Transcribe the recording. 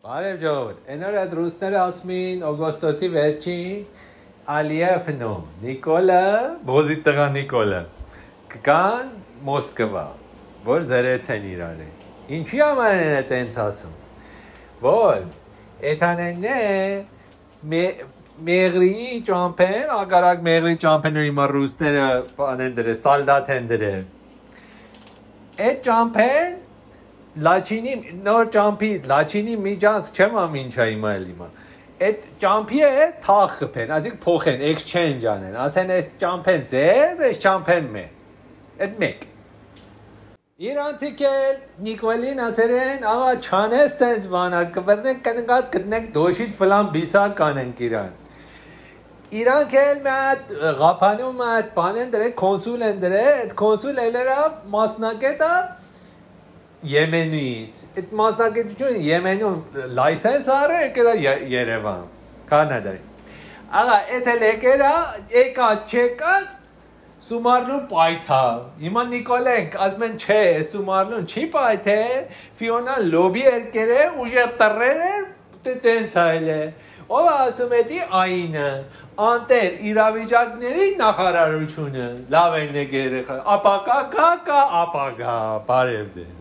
Բարև ժողովուրդ, այն օր այդ ռուսները ասում էին օգոստոսի վերջին Ալիևնո, Նիկոլը, բոզի տղա Նիկոլը կգան Մոսկվա, որ զրեցեն իրար է։ Ինչի համար են այտենց ասում, որ էթանենն է մեղրի ճամփեն, ագարակ մեղրի ճամփեները հիմա ռուսները բանեն դրե, սալդատ են դրե։ Այդ ճամփեն Լաչինի նոր ճամփի լաչինի միջանցք չեմ ամինչա հիմա էլ հիմա այդ ճամփի է թախ խփեն ասիկ փոխեն exchange անեն ասեն այս ճամփեն ձեզ այս ճամփեն մեզ այդ մեկ իրանցիք էլ Նիկոլին ասերեն աղա չանես sense բանա կվրնենք կնգատ գտնենք դոշիտ ֆլան բիսակ կանենք իրանք էլ մատ ղափանում մատ բանեն դրե կոնսուլ են դրե այդ կոնսուլ էլերա մասնակետա Եմենից, այդ մասնակցությունը Եմենում լայսենս արել եկել Երևան, Կանադայի։ Աղա, այս էլ եկած չեկած Սումարլուն պայթա։ Հիմա Նիկոլենք ասում են չէ, Սումարլուն չի պայթե, Ֆիոնա լոբի երկեր է, ուժեղ տրեր է, տենց այլ է։ Ով ասում էդի այնը, անտեր իրավիճակների նախարարությունը, լավ են երեխա, ապակա, ապակա, բարև ձեզ։